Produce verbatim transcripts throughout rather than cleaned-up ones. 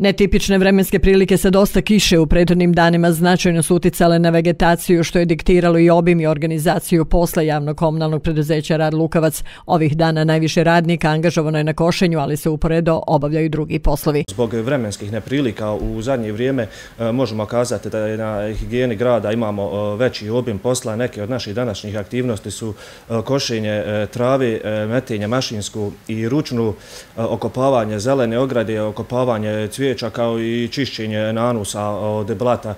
Netipične vremenske prilike sa dosta kiše u prethodnim danima značajno su uticale na vegetaciju, što je diktiralo i obim i organizaciju posla javnog komunalnog preduzeća Rad Lukavac. Ovih dana najviše radnika angažovano je na košenju, ali se uporedo obavljaju drugi poslovi. Zbog vremenskih neprilika u zadnje vrijeme možemo kazati da je na higijeni grada imamo veći obim posla. Neke od naših današnjih aktivnosti su košenje trave, metenje mašinsku i ručnu, okopavanje zelene ograde, okopavanje cvijeća, kao i čišćenje nanusa od blata.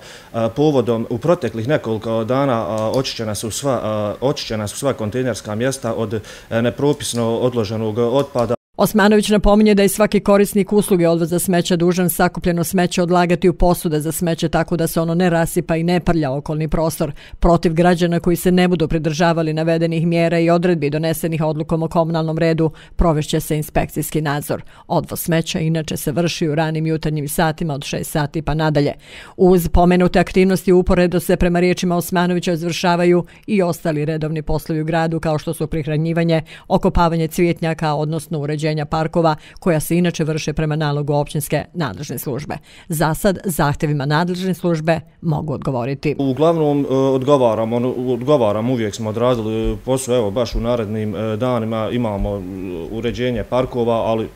Povodom u proteklih nekoliko dana očišćena su sva, očišćena su sva kontejnerska mjesta od nepropisno odloženog otpada. Osmanović napominje da je svaki korisnik usluge odvoza smeća dužan sakupljeno smeće odlagati u posude za smeće tako da se ono ne rasipa i ne prlja okolni prostor. Protiv građana koji se ne budu pridržavali navedenih mjera i odredbi donesenih odlukom o komunalnom redu provešće se inspekcijski nadzor. Odvoz smeća inače se vrši u ranim jutarnjim satima od šest sati pa nadalje. Uz pomenute aktivnosti uporedo se prema riječima Osmanovića izvršavaju i ostali redovni poslovi u gradu kao što su prihranjivanje, okopavanje cvijetnjaka, odnosno uređenje parkova koja se inače vrše prema nalogu općinske nadležne službe. Za sad zahtjevima nadležne službe mogu odgovoriti. Uglavnom odgovaramo, odgovaramo, uvijek smo odradili posao, evo baš u narednim danima imamo uređenje parkova, ali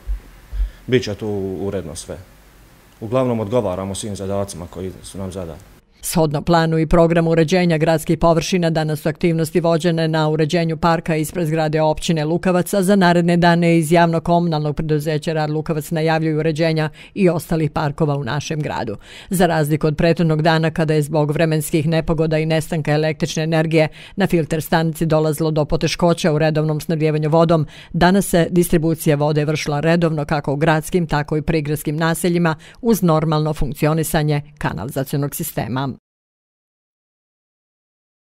bit će tu uredno sve. Uglavnom odgovaramo svim zadacima koji su nam zadani. Shodno planu i programu uređenja gradskih površina, danas su aktivnosti vođene na uređenju parka ispred zgrade općine Lukavac, a za naredne dane iz javnog komunalnog preduzeća Rad Lukavac najavljuju uređenja i ostalih parkova u našem gradu. Za razliku od prethodnog dana kada je zbog vremenskih nepogoda i nestanka električne energije na filter stanici dolazilo do poteškoća u redovnom snabdijevanju vodom, danas se distribucija vode vršila redovno kako u gradskim, tako i prigradskim naseljima uz normalno funkcionisanje kanalizacionog sistema.